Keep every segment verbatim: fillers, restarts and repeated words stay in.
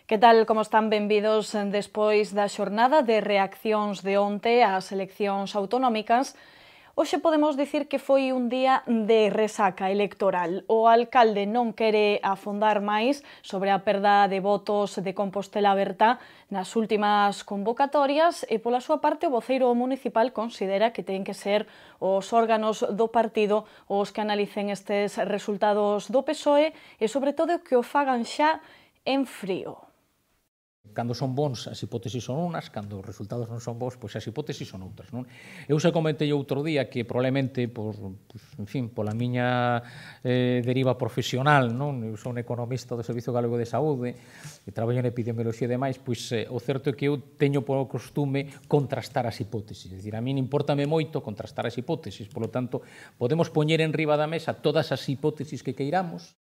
Que tal, como están? Benvidos despois da xornada de reaccións de onte ás eleccións autonómicas. Hoxe podemos dicir que foi un día de resaca electoral. O alcalde non quere afondar máis sobre a perda de votos de Compostela Aberta nas últimas convocatorias e, pola súa parte, o voceiro municipal considera que ten que ser os órganos do partido os que analicen estes resultados do P S O E e, sobre todo, que o fagan xa en frío. Cando son bons, as hipótesis son unas, cando os resultados non son bons, pois as hipótesis son outras, non? Eu xa comentei outro día que probablemente, por, pues, en fin, pola miña eh, deriva profesional, non? Eu sou un economista do Servicio Galego de Saúde e traballo en epidemioloxía e demais, pois eh, o certo é que eu teño por costume contrastar as hipótesis, é dicir, a min importame moito contrastar as hipótesis, polo tanto, podemos poñer en riba da mesa todas as hipótesis que queiramos.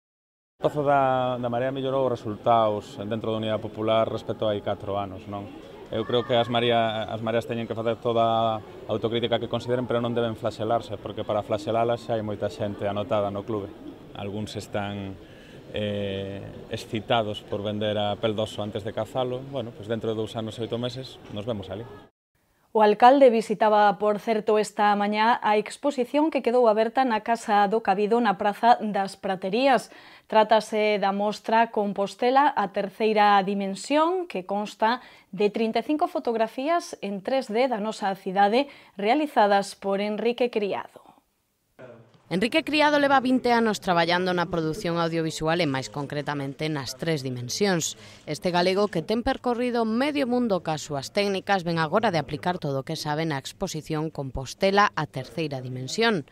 O Pazo da, da Marea mellorou os resultados dentro da Unidade Popular respecto a hai catro anos, non? Eu creo que as, María, as mareas teñen que facer toda a autocrítica que consideren, pero non deben flaxelarse, porque para flaxelalas xa hai moita xente anotada no clube. Algúns están eh, excitados por vender a pel doso antes de cazalo. Bueno, pues dentro de dous anos e oito meses nos vemos ali. O alcalde visitaba, por certo, esta mañá a exposición que quedou aberta na Casa do Cabido na Praza das Praterías. Trátase da mostra Compostela, a terceira dimensión, que consta de trinta e cinco fotografías en tres D da nosa cidade realizadas por Enrique Criado. Enrique Criado leva vinte anos traballando na produción audiovisual e máis concretamente nas tres dimensións. Este galego que ten percorrido medio mundo cas súas técnicas ven agora de aplicar todo o que sabe na exposición Compostela, a terceira dimensión.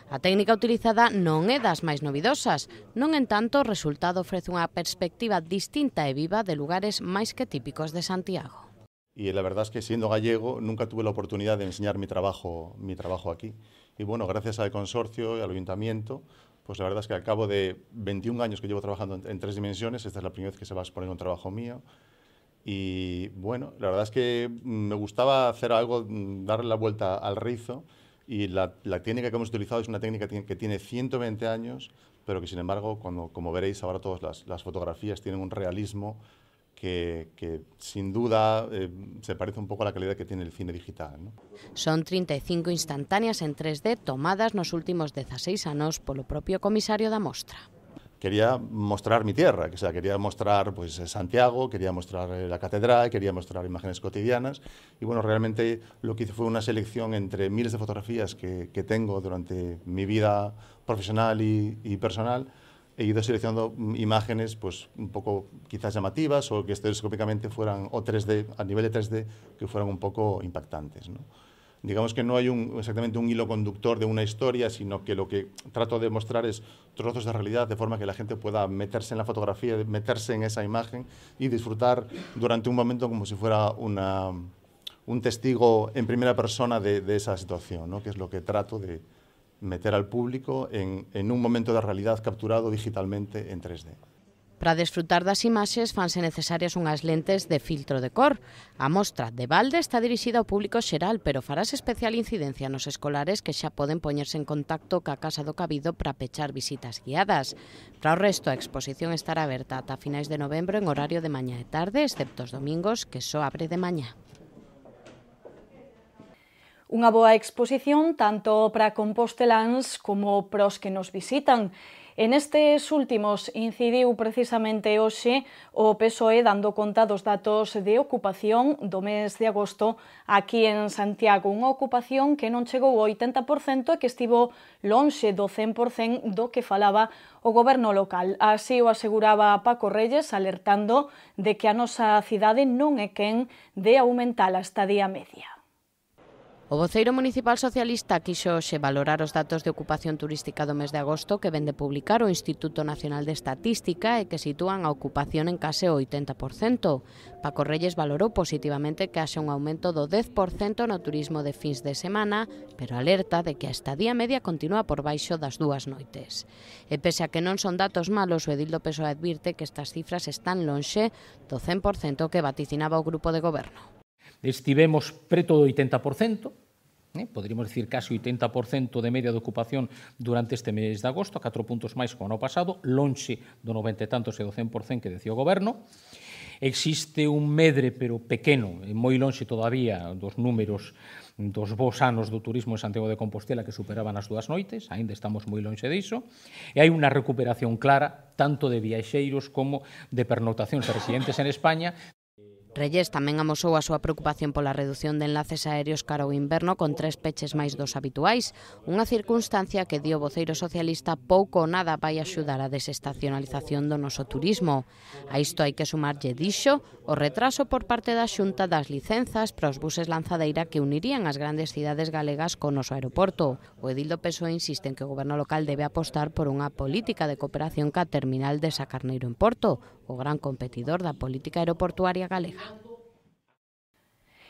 A técnica utilizada non é das máis novidosas, non en tanto o resultado ofrece unha perspectiva distinta e viva de lugares máis que típicos de Santiago. Y la verdad es que siendo gallego nunca tuve la oportunidad de enseñar mi trabajo, mi trabajo aquí. Y bueno, gracias al consorcio y al ayuntamiento, pues la verdad es que al cabo de veintiún años que llevo trabajando en, en tres dimensiones, esta es la primera vez que se va a exponer un trabajo mío. Y bueno, la verdad es que me gustaba hacer algo, darle la vuelta al rizo, y la, la técnica que hemos utilizado es una técnica que tiene ciento veinte años, pero que sin embargo, cuando, como veréis ahora todas las, las fotografías tienen un realismo Que, que sin duda eh, se parece un pouco a la calidad que tiene el cine digital, ¿no? Son trinta e cinco instantáneas en tres D tomadas nos últimos dezaseis anos polo propio comisario da mostra. Quería mostrar mi tierra, o sea, quería mostrar pues, Santiago, quería mostrar la catedral, quería mostrar imágenes cotidianas y bueno, realmente lo que hice fue una selección entre miles de fotografías que, que tengo durante mi vida profesional y, y personal. He ido seleccionando imágenes pues, un poco quizás llamativas o que estereoscópicamente fueran, o tres D, a nivel de tres D, que fueran un poco impactantes, ¿no? Digamos que no hay un, exactamente un hilo conductor de una historia, sino que lo que trato de mostrar es trozos de realidad, de forma que la gente pueda meterse en la fotografía, meterse en esa imagen y disfrutar durante un momento como si fuera una, un testigo en primera persona de, de esa situación, ¿no? Que es lo que trato de meter al público en, en un momento de realidad capturado digitalmente en tres D. Para desfrutar das imaxes fanse necesarias unhas lentes de filtro de cor. A mostra de balde está dirixida ao público xeral, pero farás especial incidencia nos escolares que xa poden poñerse en contacto ca Casa do Cabido para pechar visitas guiadas. Para o resto, a exposición estará aberta ata finais de novembro en horario de mañá e tarde, excepto os domingos, que só abre de mañá. Unha boa exposición tanto para composteláns como para os que nos visitan. En estes últimos incidiu precisamente hoxe o P S O E dando conta dos datos de ocupación do mes de agosto aquí en Santiago. Unha ocupación que non chegou ao oitenta por cento e que estivo lonxe do cen por cento do que falaba o goberno local. Así o aseguraba Paco Reyes, alertando de que a nosa cidade non é quen de aumentar a estadía media. O voceiro municipal socialista quixo hoxe valorar os datos de ocupación turística do mes de agosto que vende publicar o Instituto Nacional de Estatística e que sitúan a ocupación en case o oitenta por cento. Paco Reyes valorou positivamente que haxe un aumento do dez por cento no turismo de fins de semana, pero alerta de que a estadía media continúa por baixo das dúas noites. E pese a que non son datos malos, o edil do P S O E advirte que estas cifras están lonxe do cen por cento que vaticinaba o grupo de goberno. Estivemos preto do oitenta por cento, eh, poderíamos dicir casi oitenta por cento de media de ocupación durante este mes de agosto, a catro puntos máis que o ano pasado, lonxe do noventa e tantos e do cen por cento que decía o goberno. existe un medre, pero pequeno, e moi lonxe todavía dos números dos bons anos do turismo en Santiago de Compostela que superaban as dúas noites, aínda estamos moi lonxe diso, e hai unha recuperación clara tanto de viaxeiros como de pernotacións de residentes en España. Reyes tamén amosou a súa preocupación pola redución de enlaces aéreos cara ao inverno con tres peches máis dos habituais, unha circunstancia que dio voceiro socialista pouco ou nada vai axudar a desestacionalización do noso turismo. A isto hai que sumarlle, dixo, o retraso por parte da Xunta das licenzas para os buses lanzadeira que unirían as grandes cidades galegas co noso aeroporto. O edil do P S O E insiste en que o goberno local debe apostar por unha política de cooperación ca terminal de Sacarneiro en Porto, o gran competidor da política aeroportuaria galega.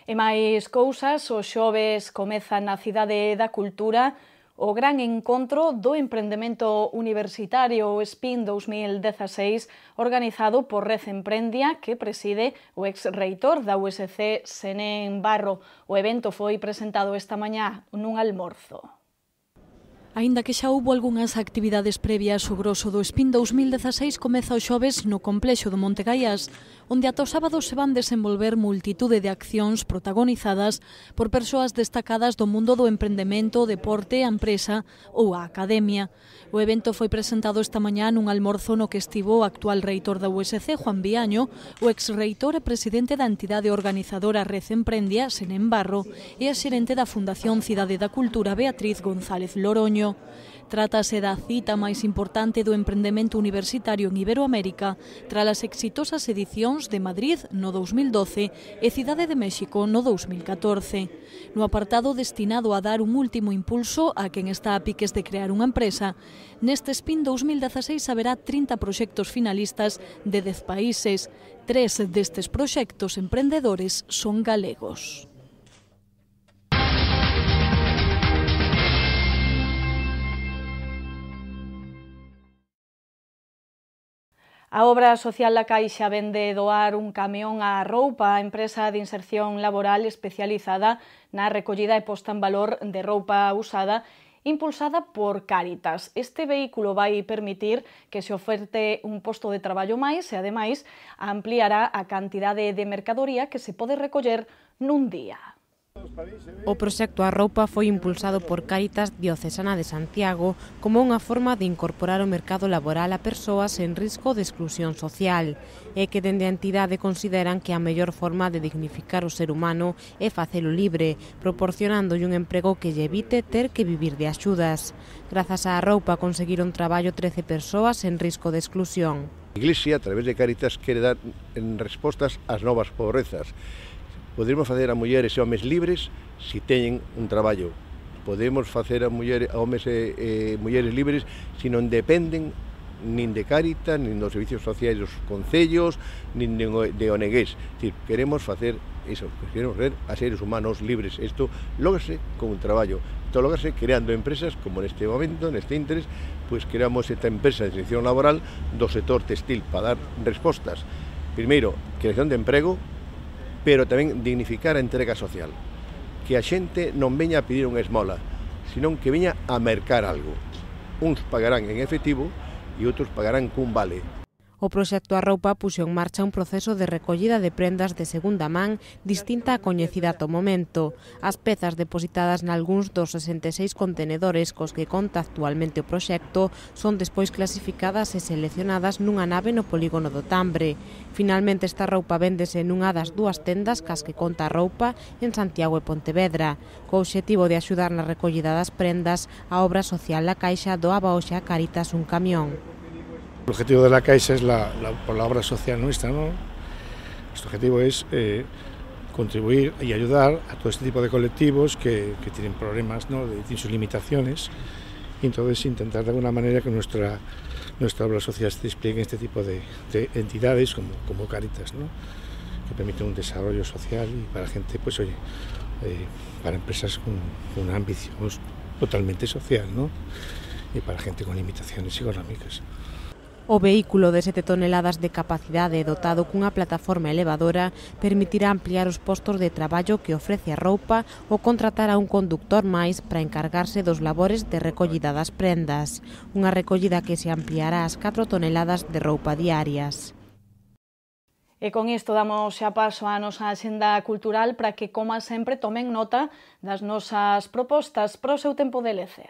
E máis cousas, o xoves comeza na Cidade da Cultura o gran encontro do emprendemento universitario o SPIN dous mil dezaseis organizado por Red Emprendia que preside o ex-reitor da U S C Senén Barro. O evento foi presentado esta mañá nun almorzo. Aínda que xa houbo algunhas actividades previas, o groso do SPIN dous mil dezaseis comeza o xoves no complexo do Monte Gaiás, onde ata o sábado se van desenvolver multitude de accións protagonizadas por persoas destacadas do mundo do emprendemento, o deporte, a empresa ou a academia. O evento foi presentado esta mañá nun almorzo no que estivo o actual reitor da U S C, Juan Viaño, o ex-reitor e presidente da entidade organizadora Red Emprendia, Senén Barro, e a xerente da Fundación Cidade da Cultura, Beatriz González Loroño. Trátase da cita máis importante do emprendemento universitario en Iberoamérica tras as exitosas edicións de Madrid no dous mil doce e Cidade de México no dous mil catorce. No apartado destinado a dar un último impulso a quen está a piques de crear unha empresa, neste SPIN dous mil dezaseis haberá trinta proxectos finalistas de dez países. Tres destes proxectos emprendedores son galegos. A obra social da Caixa vende doar un camión á Roupa, a empresa de inserción laboral especializada na recollida e posta en valor de roupa usada impulsada por Cáritas. Este vehículo vai permitir que se oferte un posto de traballo máis e, ademais, ampliará a cantidade de mercadoría que se pode recoller nun día. O proxecto A Roupa foi impulsado por Cáritas Diocesana de Santiago como unha forma de incorporar o mercado laboral a persoas en risco de exclusión social e que dende a entidade consideran que a mellor forma de dignificar o ser humano é facelo libre, proporcionándolle un emprego que lle evite ter que vivir de axudas. Grazas á Roupa conseguiron traballo trece persoas en risco de exclusión. A Iglesia, a través de Cáritas, quere dar en respostas ás novas pobrezas. Podemos facer a mulleres e homes libres se teñen un traballo. Podemos facer a, mulleres, a homes e, e mulleres libres se non dependen nin de Cáritas, nin dos servicios sociais dos concellos, nin de, de O N Gs. Decir, queremos facer iso, queremos ser a seres humanos libres. Isto lógrase con un traballo. Isto lógrase creando empresas, como neste momento, neste interés, pois creamos esta empresa de selección laboral do sector textil para dar respostas. Primeiro, creación de emprego, pero tamén dignificar a entrega social. Que a xente non veña a pedir unha esmola, senón que veña a mercar algo. Uns pagarán en efectivo e outros pagarán cun vale. O proxecto A Roupa puxo en marcha un proceso de recollida de prendas de segunda man distinta a coñecida ata o momento. As pezas depositadas nalgúns dos sesenta e seis contenedores cos que conta actualmente o proxecto son despois clasificadas e seleccionadas nunha nave no polígono do Tambre. Finalmente esta roupa véndese nunha das dúas tendas cas que conta A Roupa en Santiago e Pontevedra. Co obxectivo de axudar na recollida das prendas, a obra social da Caixa doaba hoxe a Cáritas un camión. El objetivo de la Caixa es la, la, por la obra social nuestra, ¿no? Nuestro objetivo es eh, contribuir y ayudar a todo este tipo de colectivos que, que tienen problemas, ¿no? de, tienen sus limitaciones, y entonces intentar de alguna manera que nuestra, nuestra obra social se despliegue en este tipo de, de entidades como, como Cáritas, ¿no? que permiten un desarrollo social y para gente, pues oye, eh, para empresas con, con una ambición totalmente social, ¿no? y para gente con limitaciones económicas. O vehículo de sete toneladas de capacidade dotado cunha plataforma elevadora permitirá ampliar os postos de traballo que ofrece A Roupa ou contratar a un conductor máis para encargarse dos labores de recollida das prendas, unha recollida que se ampliará ás catro toneladas de roupa diarias. E con isto damos xa paso á nosa axenda cultural para que, como sempre, tomen nota das nosas propostas para o seu tempo de lecer.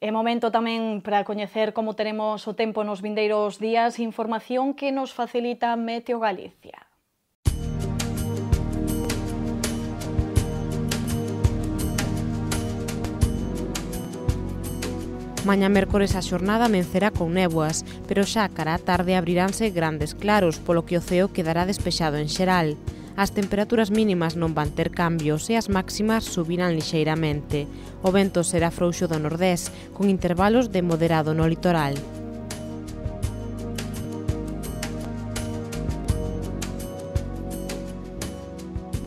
É momento tamén para coñecer como teremos o tempo nos vindeiros días, información que nos facilita Meteo Galicia. Mañá mércores a xornada amencerá con néboas, pero xa cara á tarde abriránse grandes claros, polo que o ceo quedará despexado en xeral. As temperaturas mínimas non van ter cambios e as máximas subirán lixeiramente. O vento será frouxo do nordés, con intervalos de moderado no litoral.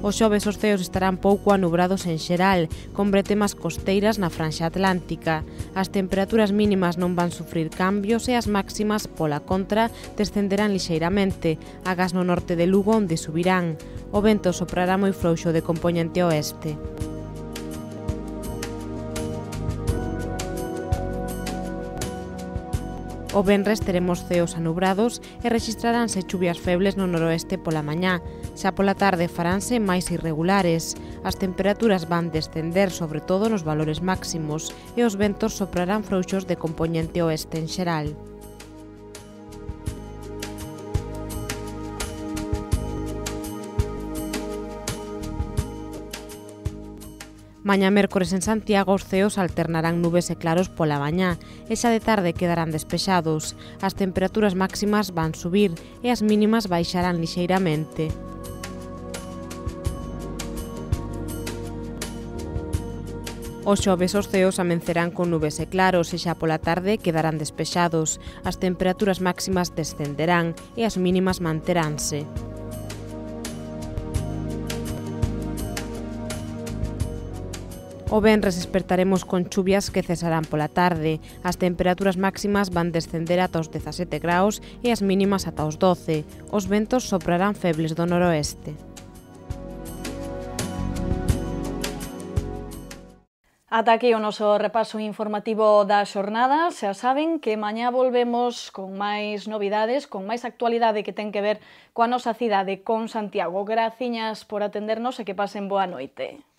Os xoves os ceos estarán pouco anubrados en xeral, con bretemas costeiras na franxa atlántica. As temperaturas mínimas non van sufrir cambios e as máximas, pola contra, descenderán lixeiramente, agás no norte de Lugo onde subirán. O vento soprará moi frouxo de compoñente oeste. O venres teremos ceos anubrados e rexistraránse chuvias febles no noroeste pola mañá. Xa pola tarde faránse máis irregulares. As temperaturas van descender sobre todo nos valores máximos e os ventos soprarán frouxos de compoñente oeste en xeral. Mañá mércores en Santiago os ceos alternarán nubes e claros pola mañá e xa de tarde quedarán despexados. As temperaturas máximas van subir e as mínimas baixarán lixeiramente. Os xoves os ceos amencerán con nubes e claros e xa pola tarde quedarán despexados. As temperaturas máximas descenderán e as mínimas manteránse. O venres despertaremos con chuvias que cesarán pola tarde. As temperaturas máximas van descender ata os dezasete graus e as mínimas ata os doce. Os ventos soprarán febles do noroeste. Ata aquí o noso repaso informativo da xornada. Xa saben que mañá volvemos con máis novidades, con máis actualidade que ten que ver coa nosa cidade, con Santiago. Graciñas por atendernos e que pasen boa noite.